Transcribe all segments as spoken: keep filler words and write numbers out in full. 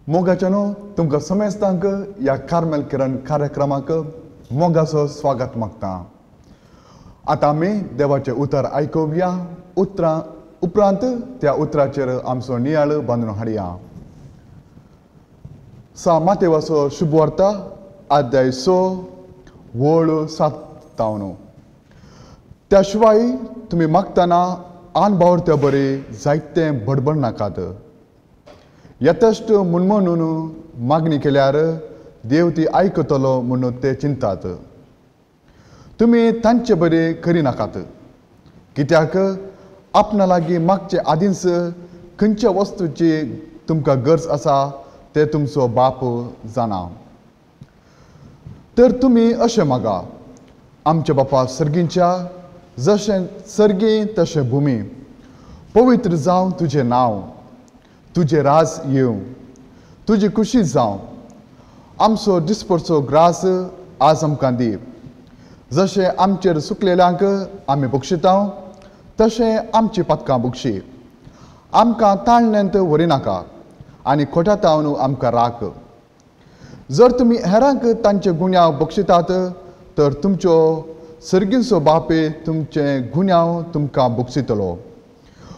मोगाच्यानो तुमकां समेस्तांक ह्या कार्मेल किरण कार्यक्रमाक मोगाचो स्वागत मागता। आतां आमी देवाचें उतर आयकुया, उतरां उपरांत त्या उतराचेर आमचो नियाळ बांदून हाडया। सा मातेवाचो शुभवार्ता अध्याय स वळ सात तावन। त्या शिवाय तुमी मागतना आन बावरत्या बरी जायते बडबड नाकात, यथेश्ट म्हूण म्हणून मागणी केल्यार देव ती आयकतलो म्हणून ते चिंतात। तुमी तांचे बरी करिनाकात, कित्याक आपणा लागीं मागचे आदींच खंयच्या वस्तूची तुमकां गरज आसा ते तुमचो बाप जाणा। तर तुमी अशें मागा, आमच्या बापा सर्गींच्या जशें सर्गी तशें भुमी, पवित्र जावं तुजें नांव, तुजें राज येवं, तुजी खुशी जावं, आमचो दिसपडचो ग्रास आज आमकां दी, जशें आमचेर सुकलेल्यांक आमी बक्षिता तशें आमची पातकां बक्षी, आमकां ताळण्यांत व्हरिनाका आनी खोट्या तावन आमकां राख। जर तुमी हेरांक तांचे गुन्यांव बक्षितात तर तुमच्यो सर्गींचो बापे तुमचे गुन्यांव तुमकां बक्षितलो,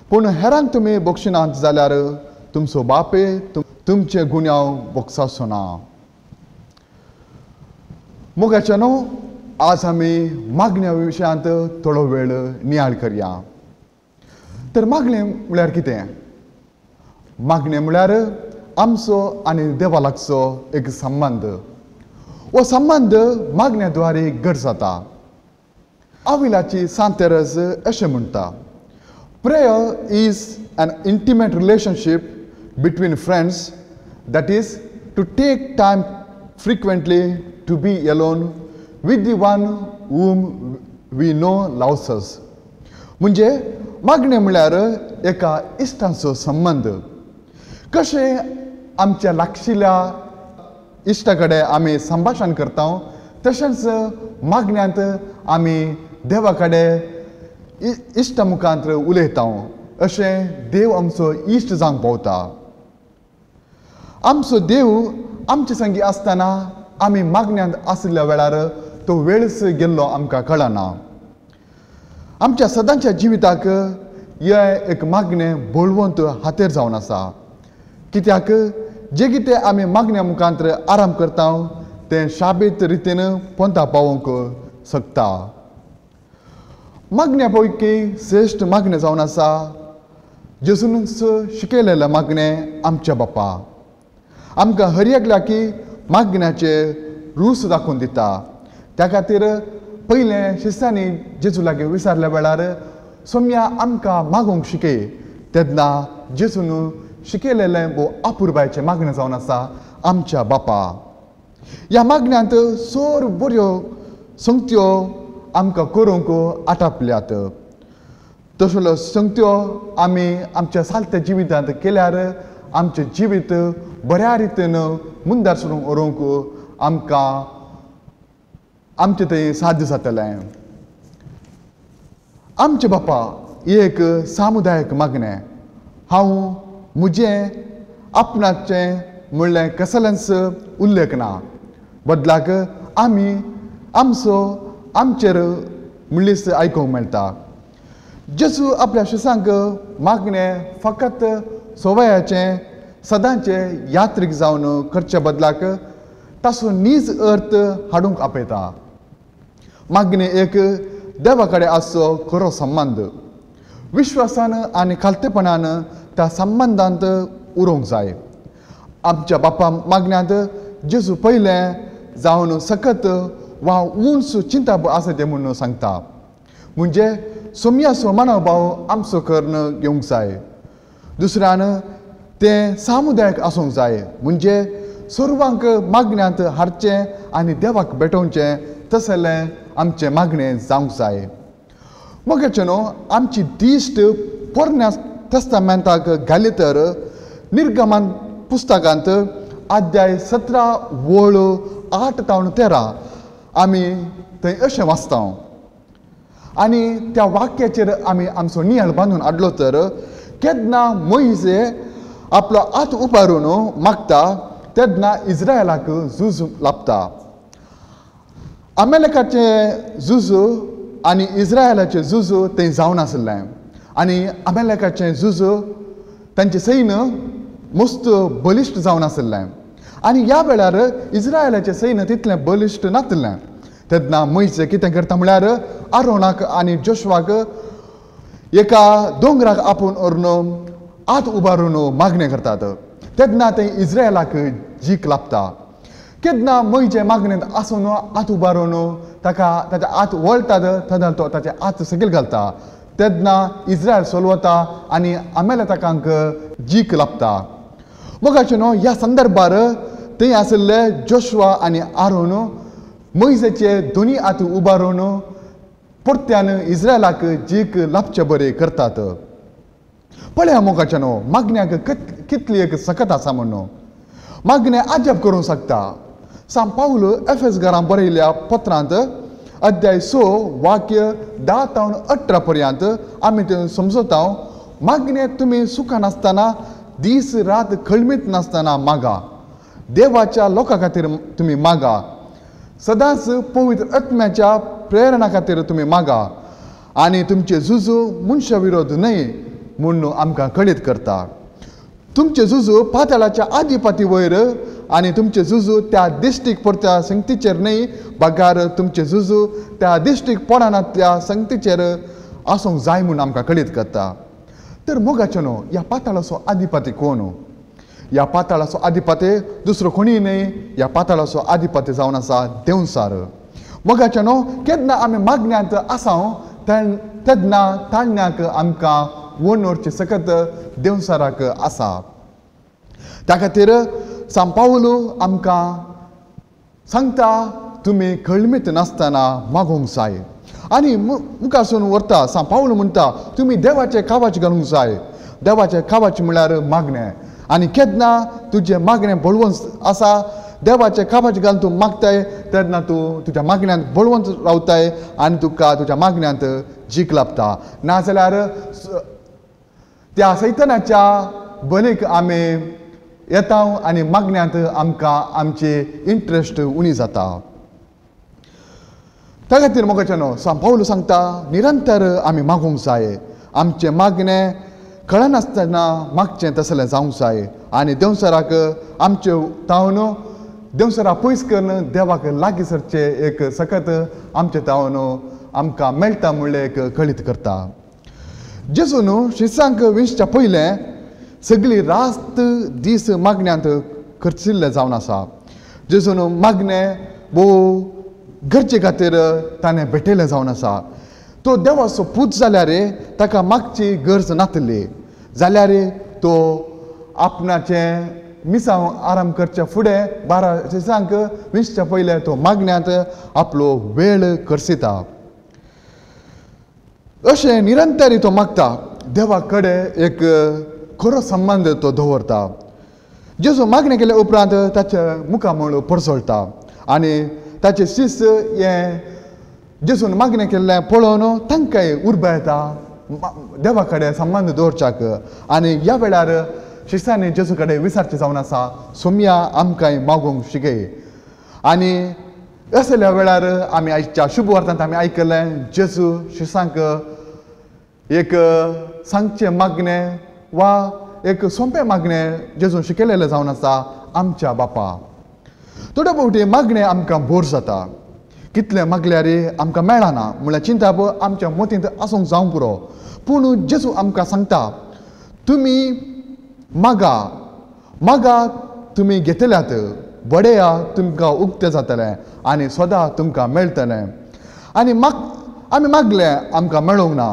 पूण हेरांक तुमी बक्षिनात जाल्यार तुमचो बापे तुमचे गुन्यांव बक्षाचो ना। मोगाच्या न्हू, आज आमी मागण्या विशयांत थोडो वेळ नियाळ करया। तर मागणें म्हळ्यार कितें? मागणें म्हळ्यार आमचो आनी देवा लागचो एक संबंद। हो संबंद मागण्या द्वारे घट जाता। आविलाची सांतेरज अशें म्हणटा, prayer is an intimate relationship between friends, that is to take time frequently to be alone with the one whom we know loves us. म्हणजे मागणें म्हळ्यार एका इश्टांचो संबंद। कशें आमच्या लागशिल्ल्या इश्टा कडेन आमी संभाशण करता तशेंच मागण्यांत आमी देवा कडेन इश्टा मुखांत उलयता, अशें देव आमचो इश्ट जावंक पावता। आमचो देव आमचे संगी आसतना आमी मागण्यांत आशिल्ल्या वेळार तो वेळच गेल्लो आमकां कळना। आमच्या सदांच्या जिविताक हें एक मागणें बळवंत हातेर जावन आसा, कित्याक जे कितें आमी मागण्या मुखांत आराम करता तें शाबीत रितीन पोंता पावोवंक शकता। मागण्या पैकी श्रेश्ठ मागणें जावन आसा जेजूनच शिकयलेलें मागणें आमच्या बापा आमकां हर एकल्या की मागण्याचे रूस दाखोवन दिता। त्या खातीर पयलें शिस्तांनी जेजू लागीं विचारल्या वेळार सोम्या आमकां मागूंक शिकय, तेन्ना जेजून शिकयलेलें भोव अपुरबायचें मागणें जावन आसा आमच्या बापा। ह्या मागण्यांत सोर बऱ्यो संगत्यो आमकां करूंक आटापल्यात। तसल्यो संगत्यो आमी आमच्या सालत्या जिवितांत केल्यार आमचें जिवीत बऱ्या रितीन मुंदार सरून व्हरूंक आमकां आमचें थंय साध्य जातलें। आमचे बापा एक सामुदायीक मागणें, हांव म्हजें आपणाचें म्हणलें कसलेंच उल्लेख ना, बदलाक आमी आमचो आमचेर म्हणलीच आयकूंक मेळटा। जेजू आपल्या शिसांक मागणें फकत सवयाचें सदांचें यात्रीक जावन करचे बदलाक ताचो नीज अर्थ हाडूंक आपयता। मागणें एक देवा कडेन आसचो खरो संबंद, विश्वासान आनी खालतेपणान त्या संबंदांत उरोवंक जाय। आमच्या बापा मागण्यांत जेजू पयलें जावन सकत वा उंच चिंता आसा तें म्हणून सांगता, म्हणजे सोम्याचो मनोभाव आमचो करून घेवंक जाय। दुसऱ्यान तें सामुदायीक आसूंक जाय, म्हणजे सर्वांक मागण्यांत हाडचें आनी देवाक भेटोवचें तसलें आमचें मागणें जावंक जाय। मगेचें न्हू आमची दिश्ट पोरण्या तेस्तामेंताक घाली तर निर्गमन पुस्तकांत अध्याय सतरा वळ आठ तावन तेरा आमी थंय अशें वाचता आनी त्या वाक्याचेर आमी आमचो नियाळ बांदून हाडलो तर केन्ना मोयजे आपलो हात उबारून मागता तेन्ना इस्रायलाक झूज लाबता. अमेलेकाचें झूज आनी इस्रायलाचें झूज तें जावन आसलें आनी अमेलेकाचें झूज तांचें सैन्य मस्त बलिश्ट जावन आसलें आनी ह्या वेळार इस्रायलाचें सैन्य तितलें बलिश्ट नासलें. तेन्ना मोयजे कितें करता म्हळ्यार आरोनाक आनी जोशुआक एका दोंगराक आपोवन व्हरून हात उबारून मागणें करतात. तेन्ना ते इस्रायलाक जीक लाबता. केन्ना मोयजे मागणेंत आसून हात उबारून ताका ताचे हात वळटात तेन्ना तो ताचे हात सकयल घालता. तेन्ना इस्रायल सोलवता आनी अमेलेकांक जीक लाबता. मोगाचे न्हू ह्या संदर्भार थंय आशिल्ले जोशुआ आनी आरोन मोयजेचे दोनी हात उबारून परत्यान इस्रायलाक जीक लाबचे बरे करतात. पळया मोगाचे न्हू मागण्याक कितली एक सकत आसा म्हणून मागणें आजब करूंक शकता. सांत पावल एफेस घरां बरयल्ल्या पत्रांत अध्याय स वाक्य धा तावन अठरा पर्यंत आमी तें समजता. मागणें तुमी सुखान आसतना दीस रात खळमीत नासतना मागा. देवाच्या लोकां खातीर तुमी मागा. सदांच पवित्र आत्म्याच्या प्रेरणा खातीर तुमी मागा आनी तुमचे झुजू मनशा विरोध न्हय म्हूण आमकां कळीत करता. तुमचे झुजू पाताळाच्या आदिपाती वयर आनी तुमचे झुजू त्या दिश्टीक पडत्या संगतीचेर न्हय बगार तुमचे झुजू त्या दिश्टीक पडनातल्या संगतीचेर आसूंक जाय म्हूण आमकां कळीत करता. तर मोगाचे न्हू ह्या पाताळाचो आदिपाती कोण? ह्या पाताळाचो आदिपाती दुसरो कोणीय न्हय, ह्या पाताळाचो आदिपाती जावन आसा देंवचार. मोगाचे न्हू केन्ना आमी मागण्यांत आसा तेन्ना ताळण्याक आमकां वणवरची सकत देंवचाराक आसा. त्या खातीर सांत पावल आमकां सांगता तुमी खळमीत नासतना मागूंक जाय. आनी मुखारसून व्हरता सांत पावल म्हणटा तुमी देवाचें कावाच घालूंक जाय. देवाचें कावाच म्हळ्यार मागणें. आनी केन्ना तुजें मागणें बळवंत आसा देवाचें कावाच घालून तूं मागताय तेन्ना तूं तुज्या मागण्यांत बळवंत रावताय आनी तुका तुज्या मागण्यांत जीक लाबता. नाजाल्यार त्या सैतानाच्या बलीक आमी येता आनी मागण्यांत आमकां आमची इंट्रस्ट उणी जाता. त्या खातीर मोगाचे न्हू सांत पावल सांगता निरंतर आमी मागूंक जाय. आमचें मागणें कळनासतना मागचें तसलें जावंक जाय आनी देंवचाराक आमचे तावन देंवचारा पयस करून देवाक लागीं सरचें एक सकत आमचे तावन आमकां मेळटा म्हणलें एक कळीत करता. जेजू न्हू शिसांक विंचच्या पयलें सगळी रात दीस मागण्यांत खर्चिल्लें जावन आसा. जेजू न्हू मागणें भोव गरजे खातीर ताणें भेटयलें जावन आसा. तो देवाचो पूत जाल्यार ताका मागची गरज नासली जाल्यार तो आपणाचें मिसांव आराम करच्या फुडें बारा दिसांक विंचच्या पयलें तो मागण्यांत आपलो वेळ खर्चिता. अशें निरंतर तो मागता. देवा कडेन एक खरो संबंद तो दवरता. जेजू मागणें केल्या उपरांत ताचें मुखामळ परसळटा आनी ताचे शिस्त हें जेजून मागणें केल्लें पळोवन तांकांय उर्बा येता देवा कडेन संबंद दवरच्याक. आनी ह्या वेळार शिस्तांनी जेजू कडेन विचारचें जावन आसा सोमया आमकांय मागूंक शिकय. आनी असल्या वेळार आमी आयच्या शुभ वार्तांत आमी आयकलें जेजू शिसांक एक सांगचें मागणें वा एक सोंपें मागणें जेजून शिकयलेलें जावन आसा आमच्या बापा. थोडे फावटी मागणें आमकां बोर जाता. कितलें मागल्यार आमकां मेळना म्हणल्यार चिंताप आमच्या मतींत आसूंक जावंक पुरो. पूण जेजू आमकां सांगता तुमी मागा मागा तुमी घेतल्यात बडया तुमकां उक्तें जातलें आनी सदां तुमकां मेळटलें. आनी माग आमी मागलें आमकां मेळोंक ना,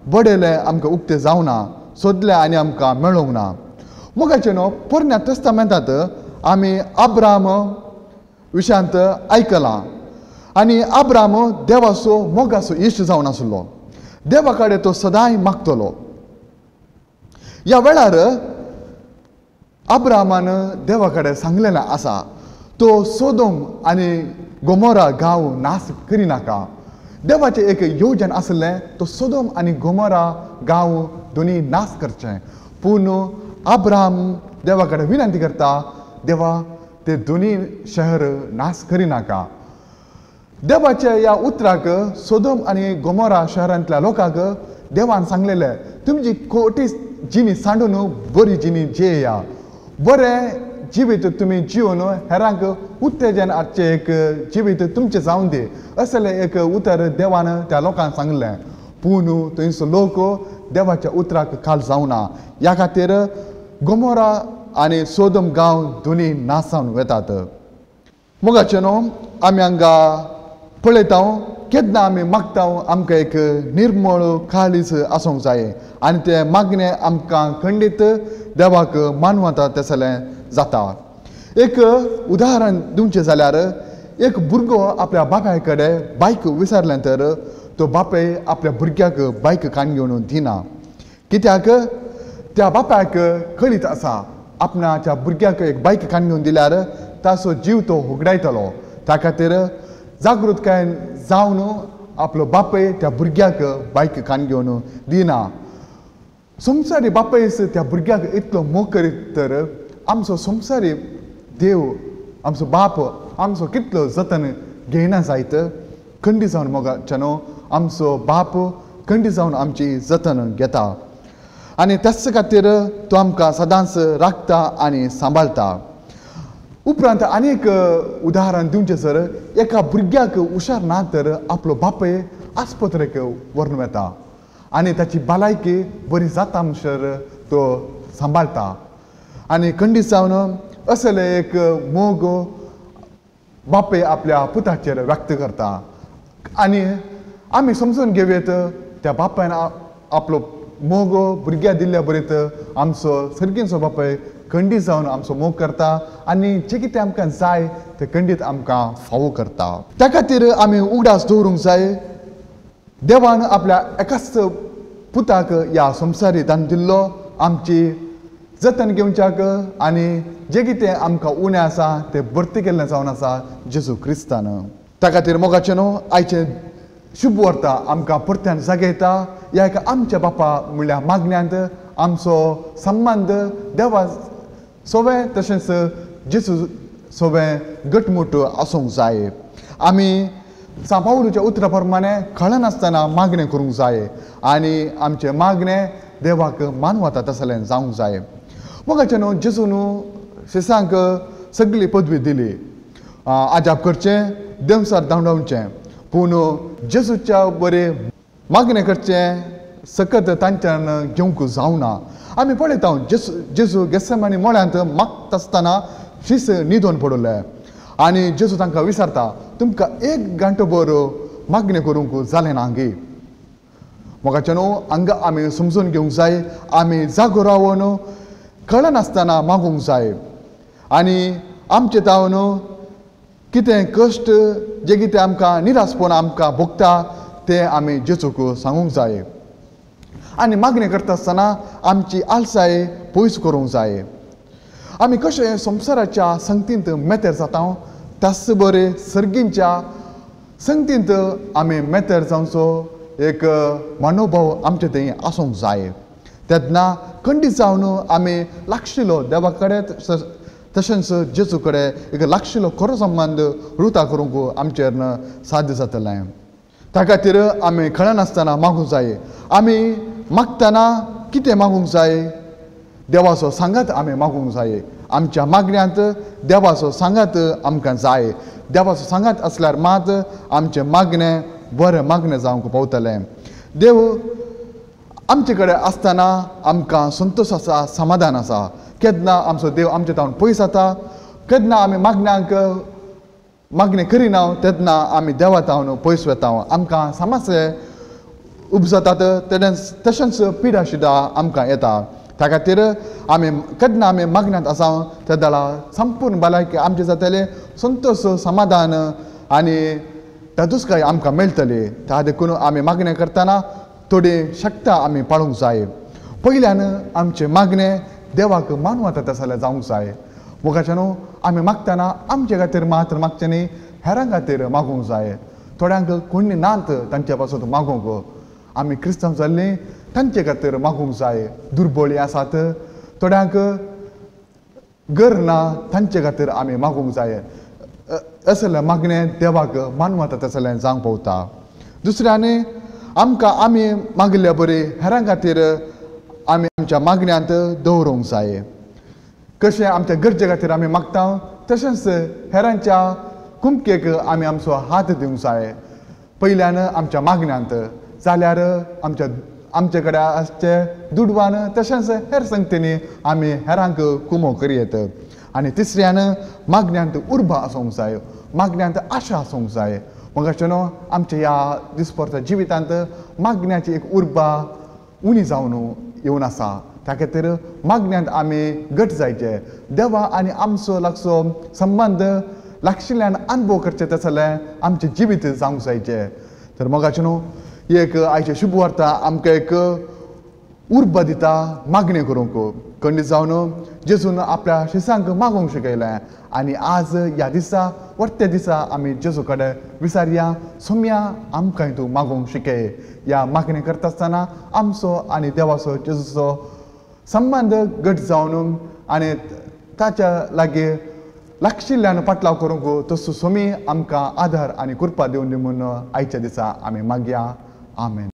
बडयलें आमकां उक्तें जावना, सोदलें आनी आमकां मेळोंक ना. मोगाचें न्हू पोरण्या तेस्तामेंतांत आमी आब्राम विशयांत आयकलां आनी आब्राम देवाचो मोगाचो इश्ट जावन आसलो. देवा कडेन तो सदांय मागतलो. ह्या वेळार आब्रामान देवा कडेन सांगलेलें आसा तो सोदोम आनी गोमोरा गांव नाश करिनाका. देवाचें एक योजन आसलें तो सोदोम आनी गोमोरा गांव दोनी नाश करचें. पूण अब्राहम देवा कडेन विनंती करता, देवा ते दोनी शहर नाश करिनाका. देवाच्या ह्या उतराक सोदोम आनी गोमोरा शहरांतल्या लोकांक देवान सांगलेलें, तुमची खोटी जिणी सांडून बरी जिणी जियेया, बरें जिवीत तुमी जिवन हेरांक उत्तेजन हाडचें एक जिवीत तुमचें जावन दी असलें एक उतर देवान त्या लोकांक सांगलें. पूण थंयसर लोक देवाच्या उतराक खाल जावना. ह्या खातीर गोमोरा आनी सोदोम गांव दोनी नाश जावन वतात. मोगाचें न्हू आमी हांगा पळयता केन्ना आमी मागता आमकां एक निर्मळ काळीज आसूंक जाय आनी तें मागणें आमकां खंडीत देवाक मानवता तसलें जाता. एक उदाहरण दिवचें जाल्यार एक भुरगो आपल्या बापाय कडेन बायक विसरलें तर तो बापाय आपल्या भुरग्याक बायक काण घेवन दिना. कित्याक त्या बापायक कळीत आसा आपणाच्या भुरग्याक एक बायक काण घेवन दिल्यार ताचो जीव तो होगडायतलो. त्या खातीर जागृतकायेन जावन आपलो बापाय त्या भुरग्याक बायक काण घेवन दिना. संवसारी बापायस त्या भुरग्याक इतलो मोग करीत तर आमचो संवसारी देव आमचो बाप आमचो कितलो जतन घेयना जायत. खंडी जावन मोगाचें न्हू आमचो बाप खंडी जावन आमची जतन घेता आनी त्याच खातीर तो आमकां सदांच राखता आनी सांबाळटा. उपरांत आनी एक उदाहरण दिवचें सर, एका भुरग्याक हुशार ना तर आपलो बापूय आस्पत्रेक व्हरून वता आनी ताची भलायकी बरी जाता म्हणसर तो सांबाळटा. आनी खंडीत जावन असले एक मोग बापूय आपल्या पुताचेर व्यक्त करता आनी आमी समजून घेवयेत त्या बापायन आपलो मोग भुरग्याक दिल्ल्या बरीत आमचो सर्गींचो बापाय खंडीत जावन आमचो मोग करता आनी जें कितें आमकां जाय तें खंडीत आमकां फावो करता. त्या खातीर आमी उगडास दवरूंक जाय देवान आपल्या एकाच पुताक ह्या संवसारी दान दिल्लो आमची जतन घेवच्याक आनी जें कितें आमकां उणें आसा तें भरती केल्लें जावन आसा जेजू क्रिस्तान. त्या खातीर मोगाचें न्हू आयचें शुभ वार्ता आमकां परत्यान जागयता. ह्या एका आमच्या बापा म्हणल्यार मागण्यांत आमचो संबंद देवा सोवें तशेंच जेजू सोवें घटमूट आसूंक जाय. आमी सांत पावलूच्या उतरा प्रमाणे कळनासतना मागणें करूंक जाय आनी आमचें मागणें देवाक मानवता तसलें जावंक जाय. मोगाचें न्हू जेजू न्हू शिसांक सगळी पदवी दिली, आजाप करचें, देंवसार धांवडावचें, पूण जेजूच्या बरें मागणें करचें सकत तांच्यान घेवंक जावना. आमी पळयता जेजू जेजू गेसेमानी मळ्यांत मागता आसतना शीस न्हिदोन पडले आनी जेजू तांकां विचारता, तुमकां एक घंटो भर मागणें करूंक जालें ना गे? मोगाचें न्हू हांगा आमी समजून घेवंक जाय आमी जागो रावन कळनासतना मागूंक जाय आनी आमचे तावन कितें कश्ट जे कितें आमकां निरासपण आमकां भोगता तें आमी जेजूक सांगूंक जाय आनी मागणें करता आसतना आमची आलसाय पयस करूंक जाय. आमी कशें संवसाराच्या संगतींत मेतेर जाता त्याच बरें सर्गींच्या संगतींत आमी मेतेर जावचो एक मनोभाव आमचे थंय आसूंक जाय. तेन्ना खंडीत जावन आमी लागशिल्लो देवा कडेन तशेंच जेजू कडेन एक लागशिल्लो खरो संबंद रुता करूंक आमचेर साध्य जातलें. त्या खातीर आमी कळनासतना मागूंक जाय. आमी मागतना कितें मागूंक जाय? देवाचो सांगात आमी मागूंक जाय. आमच्या मागण्यांत देवाचो सांगात आमकां जाय. देवाचो सांगात आसल्यार मात आमचें मागणें बरें मागणें जावंक पावतलें. देव आमचे कडेन आसतना आमकां संतोश आसा, समाधान आसा. केन्ना आमचो देव आमचे तावन पयस जाता, केन्ना आमी मागण्यांक मागणें करिना तेन्ना आमी देवा तावन पयस वता, आमकां समस्या उपजतात, तशेंच पिडा सुद्दां आमकां येता. त्या खातीर आमी केन्ना आमी मागण्यांत आसा तेदळा संपूर्ण भलायकी आमचें जातलें, संतोश, समाधान आनी तादुसकाय आमकां मेळटली. त्या देखून आमी मागणें करतना थोडी शक्त आमी पाळूंक जाय. पयल्यान आमचें मागणें देवाक मानवता तशें जाल्यार जावंक जाय. मोगाच्या न्हू आमी मागतना आमचे खातीर मात्र मागचें न्ही, हेरां खातीर मागूंक जाय. थोड्यांक कोणी नात तांचे पासून मागूंक, आमी क्रिस्तांव जाल्लीं तांचे खातीर मागूंक जाय. दुर्बळी आसात थोड्यांक घर ना तांचे खातीर आमी मागूंक जाय. असलें मागणें देवाक मानवता तसलें जावंक पावता. दुसऱ्यान आमकां आमी मागिल्ल्या बरी हेरां खातीर आमी आमच्या मागण्यांत दवरूंक जाय. कशें आमच्या गरजे खातीर आमी मागता तशेंच हेरांच्या कुमकेक आमी आमचो हात दिवंक जाय. पयल्यान आमच्या मागण्यांत जाल्यार आमच्या आमचे कडेन आसचे दुडवान तशेंच हेर संगतींनी आमी हेरांक कुमो करयेत. आनी तिसऱ्यान मागण्यांत उर्बा आसूंक जाय, मागण्यांत आशा आसूंक जाय. मगाचे न्हू आमच्या ह्या दिसपरच्या जिवितांत मागण्याची एक उर्बा उणी जावन येवन आसा. त्या खातीर मागण्यांत आमी घट जायचे. देवा आनी आमचो लागचो संबंद लागशिल्ल्यान अनुभव करचे तसलें आमचें जिवीत जावंक जायचें. तर मोगाचे न्हू एक आयचे शुभ वार्ता आमकां एक उर्बा दिता मागणें करूंक. खंडीत जावन जेजून आपल्या शिसांक मागूंक शिकयलें आनी आज ह्या दिसा वर्ते दिसा आमी जेजू कडेन विचारया, सोम्या आमकां तूं मागूंक शिकय. ह्या मागणें करता आसतना आमचो आनी देवाचो जेजूचो संबंद घट जावन आनी ताच्या लागीं लागशिल्ल्यान पाटलाव करूंक तसो सोमी आमकां आदार आनी कृपा दिवन दी म्हूण आयच्या दिसा आमी मागया. आमेन.